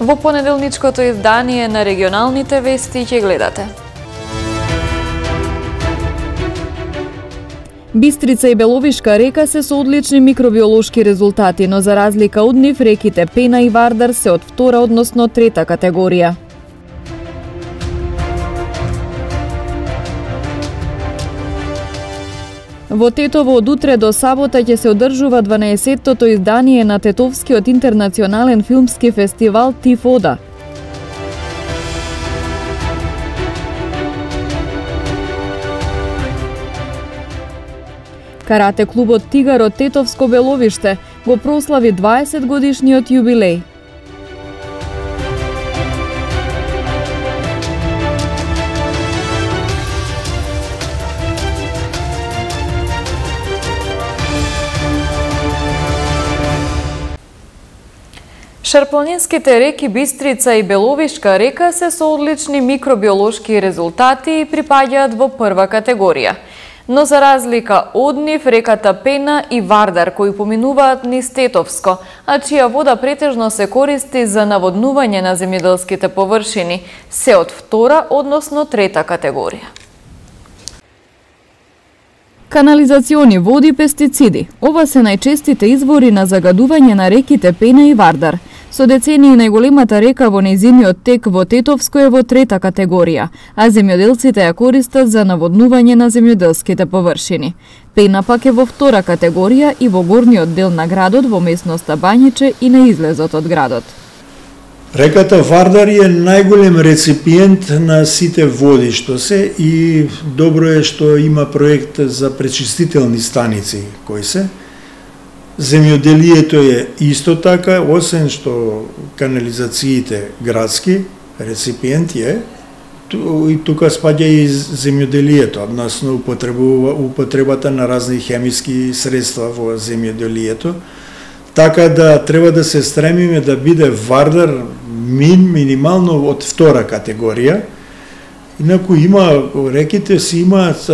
Во понеделничкото издание на регионалните вести ќе гледате. Бистрица и Беловишка река се со одлични микробиолошки резултати, но за разлика од нив реките Пена и Вардар се од втора, односно трета категорија. Во Тетово од утре до сабота ќе се одржува 12-тото издание на Тетовскиот интернационален филмски фестивал Тифода. Карате клубот Тигар од Тетовско Беловиште го прослави 20 годишниот јубилеј. Шарпланинските реки Бистрица и Беловишка река се со одлични микробиолошки резултати и припаѓаат во прва категорија. Но за разлика од нив, реката Пена и Вардар, кои поминуваат низ Тетовско, а чија вода претежно се користи за наводнување на земјоделските површини, се од втора, односно трета категорија. Канализациони води, пестициди. Ова се најчестите извори на загадување на реките Пена и Вардар. Со децении најголемата река во нејзиниот тек во Тетовско е во трета категорија, а земјоделците ја користат за наводнување на земјоделските површини. Пена пак е во втора категорија и во горниот дел на градот, во местноста Бањиче и на излезот од градот. Реката Вардар е најголем реципиент на сите води што се и добро е што има проект за пречистителни станици кои се. Земјоделието е исто така, освен што канализациите градски реципиент е, и тука спаѓа и земјоделието, односно употребата на разни хемиски средства во земјоделието. Така да треба да се стремиме да биде Вардар минимално од втора категорија. Инаку има, реките си имаат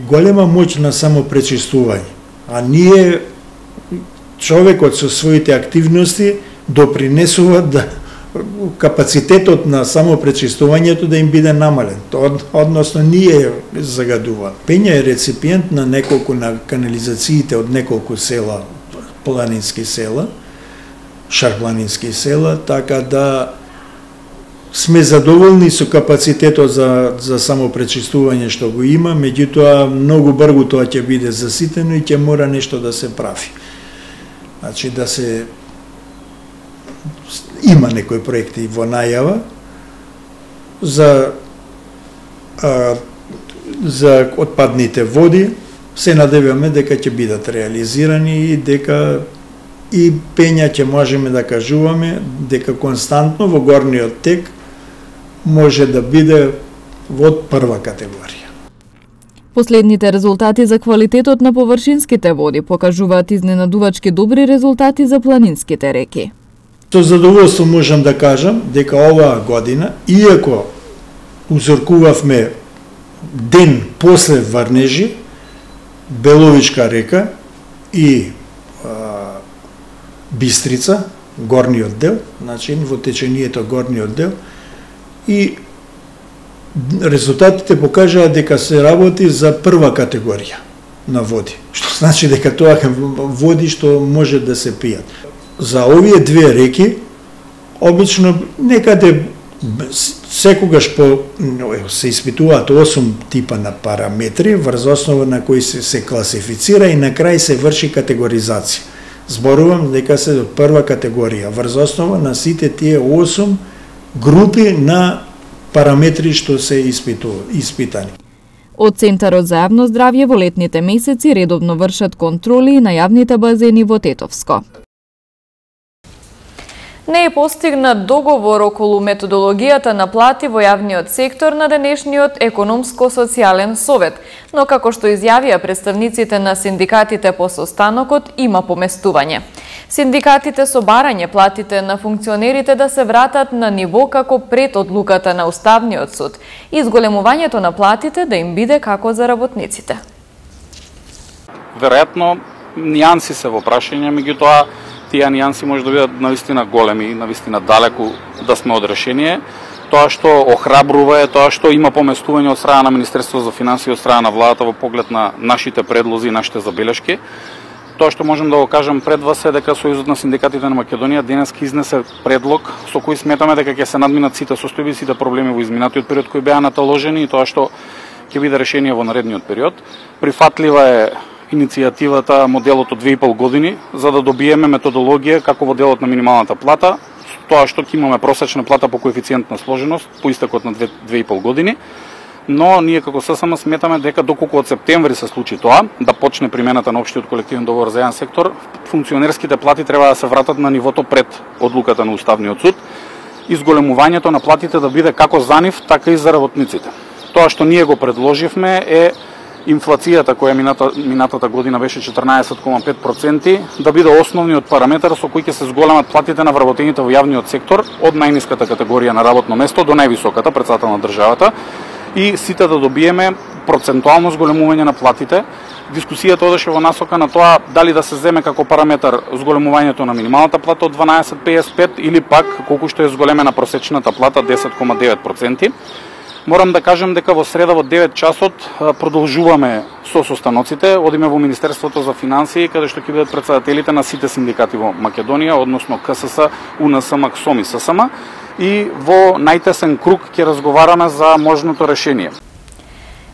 голема моќ на самопречистување. А ние, човекот со своите активности, допринесува да капацитетот на самопречистувањето да им биде намален. Односно, ние загадува. Пења е реципиент на неколку на канализациите од неколку села, планински села, шарпланински села, така да сме задоволни со капацитетот за самопречистување што го има, меѓутоа многу брзо тоа ќе биде заситено и ќе мора нешто да се прави. Значи да се има некои проекти во најава за отпадните води, се надеваме дека ќе бидат реализирани и дека и Пења ќе можеме да кажуваме дека константно во горниот тек може да биде во прва категорија. Последните резултати за квалитетот на површинските води покажуваат изненадувачки добри резултати за планинските реки. Со задоволство можам да кажам дека оваа година, иако узоркувавме ден после врнежи, Беловишка река и Бистрица, горниот дел, значи во течението горниот дел, и резултатите покажаат дека се работи за прва категорија на води, што значи дека тоа е води што може да се пијат. За овие две реки, обично некаде секогаш се испитуваат 8 типа на параметри врз основа на кои се класифицира и на крај се врши категоризација. Зборувам дека се од прва категорија врз основа на сите тие 8 групи на параметри што се испитани. Од Центарот за јавно здравје во летните месеци редовно вршат контроли на јавните базени во Тетовско. Не е постигнат договор околу методологијата на плати во јавниот сектор на денешниот економско-социјален совет, но како што изјавија представниците на синдикатите по состанокот, има поместување. Синдикатите со барање платите на функционерите да се вратат на ниво како пред одлуката на Уставниот суд и зголемувањето на платите да им биде како за работниците. Веројатно, нијанси се во прашање, меѓутоа тие нијанси може да бидат навистина големи, навистина далеку да сме од решение. Тоа што охрабрува е тоа што има поместување од страна на Министерството за финансии, од страна на владата во поглед на нашите предлози и нашите забелешки. Тоа што можем да го кажем пред вас е дека Сојузот на синдикатите на Македонија денеска изнесе предлог со кој сметаме дека ќе се надминат сите состојби, сите проблеми во изминатиот период кои беа наталожени и тоа што ќе биде решение во наредниот период. Прифатлива е иницијативата, моделот од 2,5 години, за да добиеме методологија како во делот на минималната плата, тоа што ќе имаме просечна плата по коефициент на сложеност по истекот на 2,5 години. Но ние како ССМ сметаме дека доколку од септември се случи тоа, да почне примената на општиот колективен договор за еден сектор, функционерските плати треба да се вратат на нивото пред одлуката на Уставниот суд, изголемувањето на платите да биде како за нив, така и за работниците. Тоа што ние го предложивме е инфлацијата која минатата година беше 14,5%, да биде основниот параметар со кој ќе се зголемат платите на вработените во јавниот сектор од најниската категорија на работно место до највисоката, председател на државата, и сите да добиеме процентуално зголемување на платите. Дискусијата одеше во насока на тоа дали да се земе како параметар зголемувањето на минималната плата од 12,55 или пак колку што е зголемена просечната плата 10,9%. Морам да кажем дека во среда во 9 часот продолжуваме со состаноците, одиме во Министерството за финансии, каде што ќе бидат претседателите на сите синдикати во Македонија, односно КСС, УНС, МАКСОМ и ССМ, и во најтесен круг ќе разговараме за можното решение.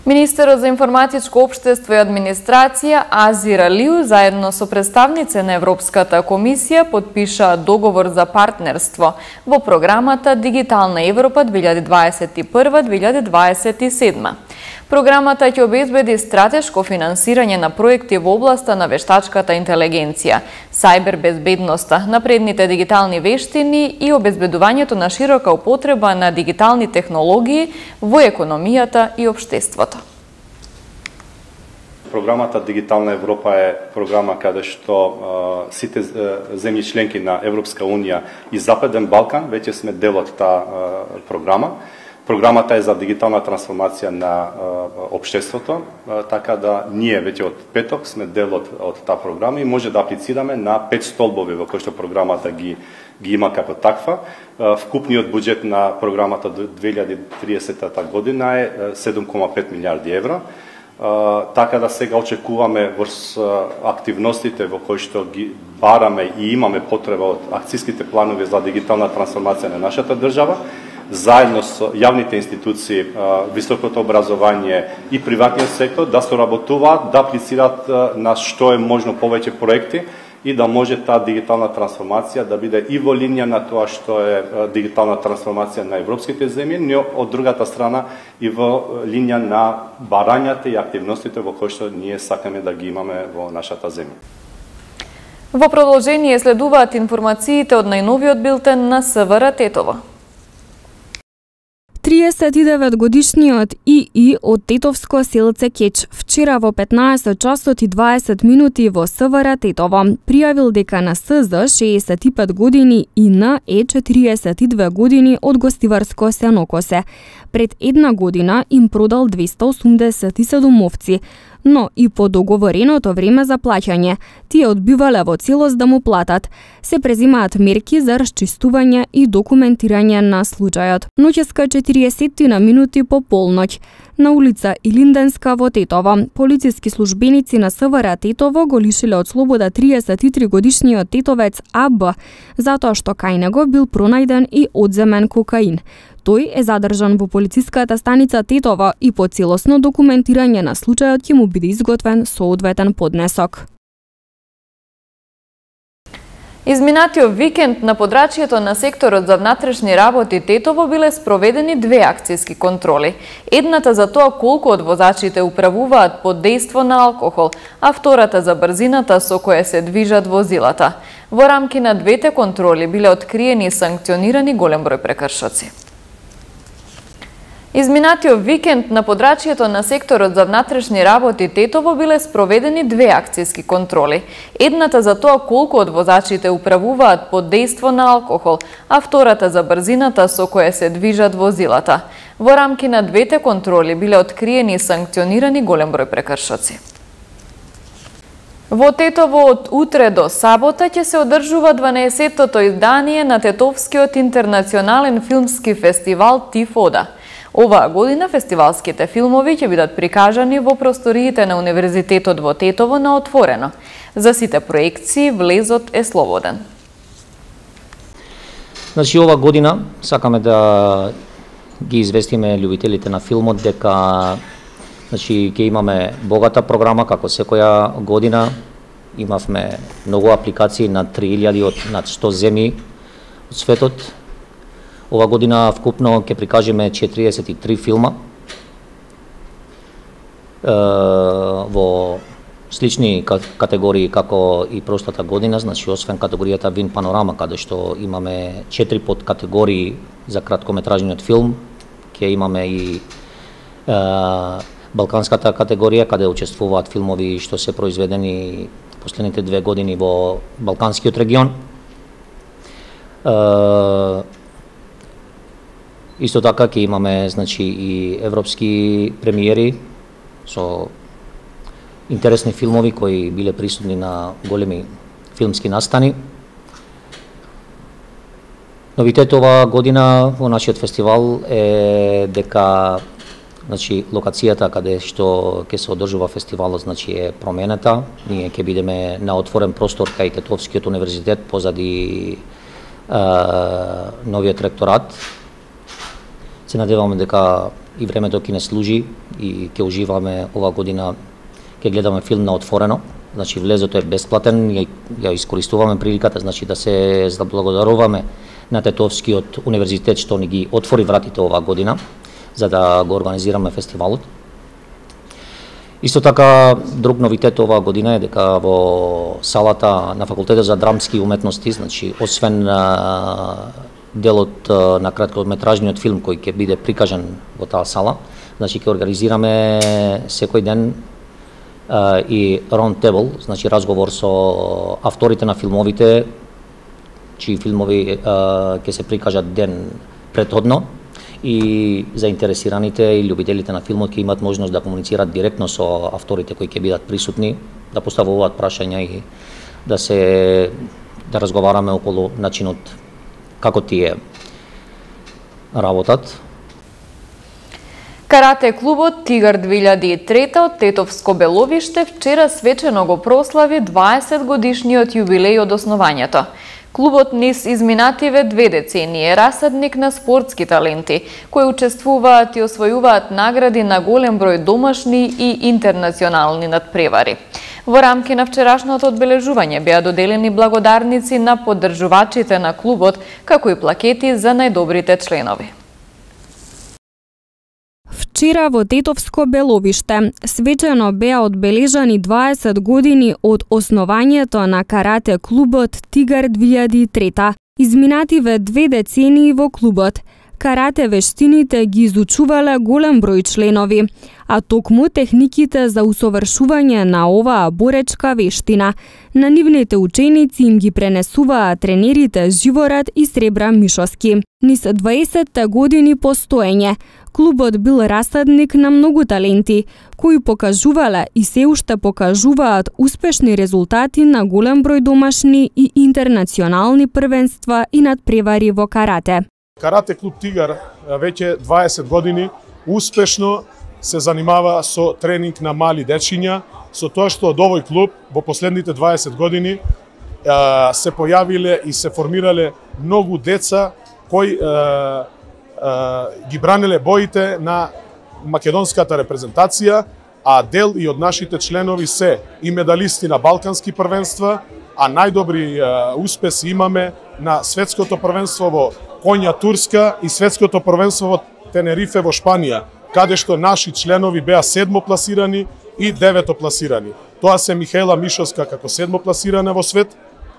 Министерот за информатичко општество и администрација Азир Алиу заедно со представници на Европската комисија подпиша договор за партнерство во програмата Дигитална Европа 2021-2027. Програмата ќе обезбеди стратешко финансирање на проекти во областа на вештачката интелигенција, сајбер безбедноста, напредните дигитални вештини и обезбедувањето на широка употреба на дигитални технологии во економијата и општеството. Програмата Дигитална Европа е програма каде што сите земји членки на Европска Унија и Западен Балкан веќе сме дел од таа програма. Програмата е за дигитална трансформација на општеството, така да ние веќе од петок сме дел од таа програма и може да аплицираме на 5 столбови во кои што програмата ги има како таква. Вкупниот буџет на програмата до 2030 година е 7,5 милиарди евро. Така да сега очекуваме врз активностите во кои што ги бараме и имаме потреба од акциските планови за дигитална трансформација на нашата држава, заедно со јавните институции, високото образование и приватниот сектор да соработуваат, да аплицираат на што е можно повеќе проекти и да може таа дигитална трансформација да биде и во линија на тоа што е дигитална трансформација на европските земји, но од другата страна и во линија на барањата и активностите во кои што ние сакаме да ги имаме во нашата земја. Во продолжение следуваат информациите од најновиот билтен на СВР Тетово. 39-годишниот ИИ од Тетовско селце Кеч вчера во 15 часот и 20 минути во СВР Тетово пријавил дека на СЗ 65 години и на Е 42 години од гостиварско Сенокосе пред една година им продал 287 овци, но и по договореното време за плаќање, тие одбивале во целост да му платат. Се презимаат мерки за расчистување и документирање на случајот. Ноќеска 40 минути по полноќ, на улица Илинденска во Тетово, полициски службеници на СВР Тетово го лишиле од слобода 33 годишниот тетовец АБ, затоа што кај него бил пронајден и одземен кокаин. Тој е задржан во полициската станица Тетово и по целосно документирање на случајот ќе му биде изготвен соодветен поднесок. Изминатиот викенд на подрачјето на секторот за внатрешни работи Тетово биле спроведени две акциски контроли. Едната за тоа колку од возачите управуваат под дејство на алкохол, а втората за брзината со која се движат возилата. Во рамки на двете контроли биле откриени и санкционирани голем број прекршоци. Изминатиот викенд на подрачјето на секторот за внатрешни работи Тетово биле спроведени две акциски контроли. Едната за тоа колку од возачите управуваат под дејство на алкохол, а втората за брзината со која се движат возилата. Во рамки на двете контроли биле откриени и санкционирани голем број прекршоци. Во Тетово од утре до сабота ќе се одржува 12-тото издание на Тетовскиот интернационален филмски фестивал Тифода. Оваа година фестивалските филмови ќе бидат прикажани во просториите на Универзитетот во Тетово на отворено. За сите проекции влезот е слободен. Значи, ова година сакаме да ги известиме љубителите на филмот дека ќе имаме богата програма како секоја година. Имавме многу апликации на 3000 од над 100 земји од светот. Ова година вкупно ќе прикажеме 43 филма во слични категории како и прошлата година, значи освен категоријата Вин Панорама, каде што имаме 4 подкатегории за краткометражниот филм, ќе имаме и балканската категорија, каде учествуваат филмови што се произведени последните 2 години во Балканскиот регион. Исто така ќе имаме значи и европски премиери со интересни филмови кои биле присутни на големи филмски настани. Новитет оваа година во нашиот фестивал е дека значи локацијата каде што ќе се одржува фестивалот значи е променета. Ние ќе бидеме на отворен простор кај Тетовскиот универзитет позади новиот ректорат. Се надеваме дека и времето ќе не служи и ќе уживаме оваа година, ќе гледаме филм на отворено. Значи влезот е бесплатен, ја искористуваме приликата значи да се заблагодаруваме на Тетовскиот универзитет што ни ги отвори вратите оваа година за да го организираме фестивалот. Исто така, друг новитет оваа година е дека во салата на Факултетот за драмски уметности, значи освен делот на краткометражниот филм кој ќе биде прикажан во таа сала, значи ќе организираме секој ден и round table, значи разговор со авторите на филмовите, чии филмови ќе се прикажат ден претходно, и заинтересираните и љубителите на филмот ќе имат можност да комуницираат директно со авторите кои ќе бидат присутни, да поставуваат прашања и да разговараме околу начинот како тие работат. Карате клубот Тигар 2003 од Тетовско Беловиште вчера свечено го прослави 20 годишниот јубилеј од основањето. Клубот низ изминативе 2 децении е расадник на спортски таленти, кои учествуваат и освојуваат награди на голем број домашни и интернационални надпревари. Во рамки на вчерашното одбележување беа доделени благодарници на поддржувачите на клубот, како и плакети за најдобрите членови. Вчера во Тетовско Беловиште свечено беа одбележани 20 години од основањето на карате клубот Тигар 2003. Изминативе 2 децении во клубот. Карате вештините ги изучувале голем број членови, а токму техниките за усовршување на оваа боречка вештина. На нивните ученици им ги пренесуваа тренерите Живорад и Сребра Мишовски. Низ 20 години постоење, клубот бил расадник на многу таленти, кои покажувале и се уште покажуваат успешни резултати на голем број домашни и интернационални првенства и надпревари во карате. Карате клуб Тигар веќе 20 години успешно се занимава со тренинг на мали дечиња, со тоа што од овој клуб во последните 20 години се појавиле и се формирале многу деца кои ги бранеле боите на македонската репрезентација, а дел и од нашите членови се и медалисти на балкански првенства, а најдобри успеси имаме на светското првенство во Конја Турска и светското првенство во Тенерифе во Шпанија, каде што наши членови беа 7 пласирани и 9 пласирани. Тоа се Михаела Мишовска како 7 пласирана во свет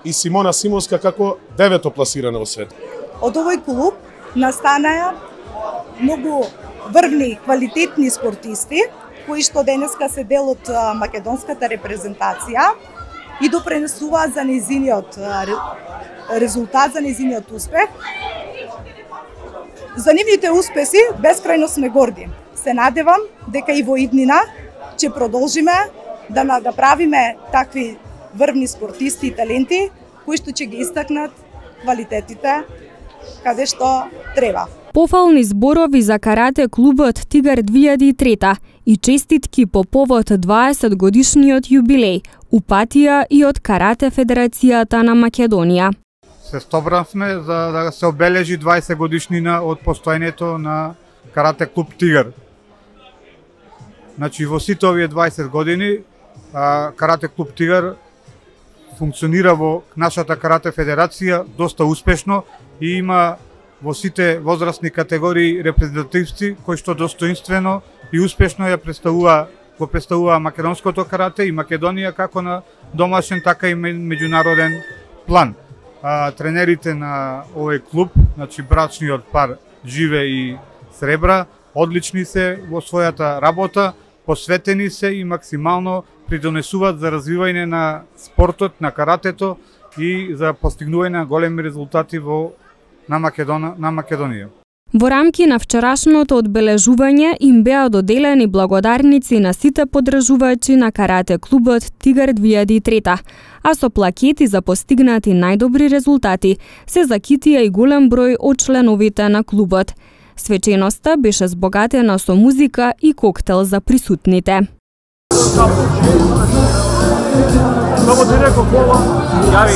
и Симона Симонска како 9 пласирана во свет. Од овој клуб настанаа многу врвни, квалитетни спортисти, кои што денеска се дел од македонската репрезентација и допренесуваат за нејзиниот резултат, за нејзиниот успех. За нивните успеси бескрајно сме горди. Се надевам дека и во иднина ќе продолжиме да направиме такви врвни спортисти и таленти кои што ќе ги истакнат квалитетите каде што треба. Пофални зборови за карате клубот Тигар 2003 и честитки по повод 20 годишниот јубилеј упатија и од Карате Федерацијата на Македонија. Се собравме за да се обележи 20 годишнина од постоењето на Карате клуб Тигар. Значи во сите овие 20 години Карате клуб Тигар функционира во нашата Карате Федерација доста успешно и има во сите возрастни категории репрезентативци кои што достоинствено и успешно го представува македонското карате и Македонија како на домашен, така и меѓународен план. Тренерите на овој клуб, значи брачниот пар Живе и Сребра, одлични се во својата работа, посветени се и максимално придонесуваат за развивање на спортот, на каратето и за постигнување на големи резултати на Македонија. Во рамки на вчерашното одбележување им беа доделени благодарници на сите поддржувачи на карате клубот Тигар 2003, а со плакети за постигнати најдобри резултати се закитија и голем број од членовите на клубот. Свеченоста беше збогатена со музика и коктел за присутните. Само директно кола, јави.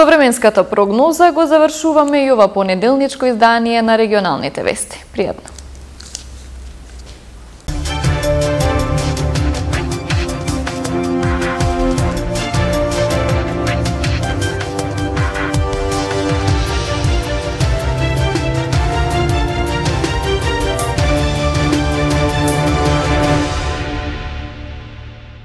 Со временската прогноза го завршуваме и ова понеделничко издание на регионалните вести. Пријатно!